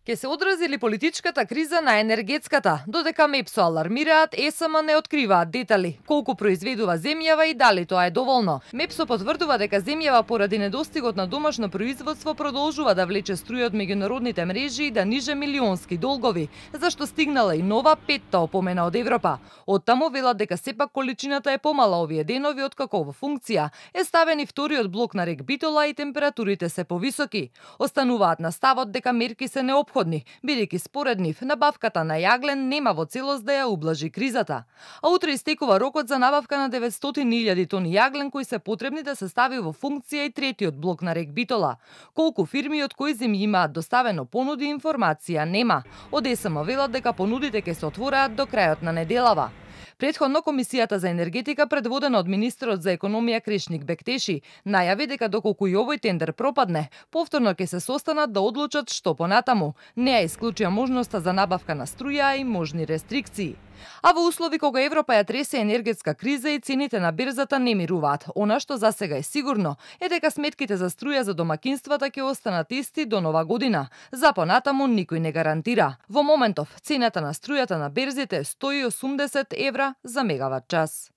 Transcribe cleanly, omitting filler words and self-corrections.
Ке се одрази ли политичката криза на енергетската? Додека МЕПСО алармираат, ЕСМ не откриваат детали. Колку произведува земјава и дали тоа е доволно? МЕПСО потврдува дека земјава поради недостигот на домашно производство продолжува да влече струја од меѓународните мрежи и да ниже милионски долгови, зашто стигнала и нова петта опомена од Европа. Оттаму велат дека сепак количината е помала овие денови откако во функција е ставен и вториот блок на рек Битола и температурите се повисоки. Остануваат на ставот дека мерки се неопходни, бидејќи според нив набавката на јаглен нема во целост да ја ублажи кризата. А утре истекува рокот за набавка на 900.000 тони јаглен кои се потребни да се стави во функција и третиот блок на рек Битола. Колку фирми од кои земји имаат доставено понуди, информација нема. Од ЕСМ велат дека понудите ќе се отвораат до крајот на неделава. Претходно Комисијата за енергетика, предводена од министерот за економија Крешник Бектеши, најави дека доколку и овој тендер пропадне, повторно ќе се состанат да одлучат што понатаму. Не ја исклучија можноста за набавка на струја и можни рестрикции. А во услови кога Европа ја тресе енергетска криза и цените на берзата не мируваат, она што засега е сигурно е дека сметките за струја за домакинствата ќе останат исти до нова година. За понатаму никој не гарантира. Во моментов цената на струјата на берзите е 180 евра за мегават час.